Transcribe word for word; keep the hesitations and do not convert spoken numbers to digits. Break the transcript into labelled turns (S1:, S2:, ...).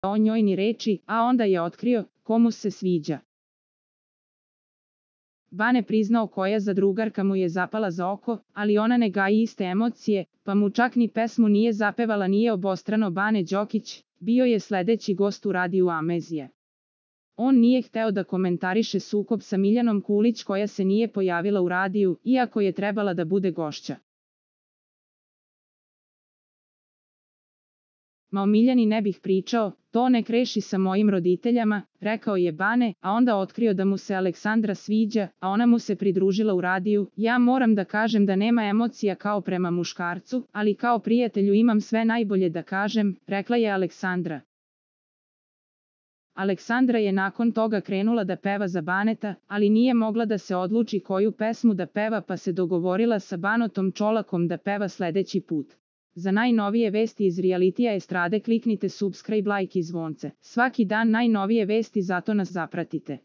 S1: o njoj ni reči, a onda je otkrio komu se sviđa. Bane priznao koja zadrugarka mu je zapala za oko, ali ona ne gaji iste emocije, pa mu čak ni pesmu nije zapevala. Nije obostrano. Bane Đokić bio je sledeći gost u radiju Amazije. On nije hteo da komentariše sukob sa Miljanom Kulić koja se nije pojavila u radiju, iako je trebala da bude gošća. Ma o Miljani ne bih pričao, to nek reši sa mojim roditeljama, rekao je Bane, a onda otkrio da mu se Aleksandra sviđa, a ona mu se pridružila u radiju. Ja moram da kažem da nema emocija kao prema muškarcu, ali kao prijatelju imam sve najbolje da kažem, rekla je Aleksandra. Aleksandra je nakon toga krenula da peva za Baneta, ali nije mogla da se odluči koju pesmu da peva, pa se dogovorila sa Banotom Čolakom da peva sledeći put. Za najnovije vesti iz realitija estrade kliknite subscribe, like i zvonce. Svaki dan najnovije vesti, zato nas zapratite.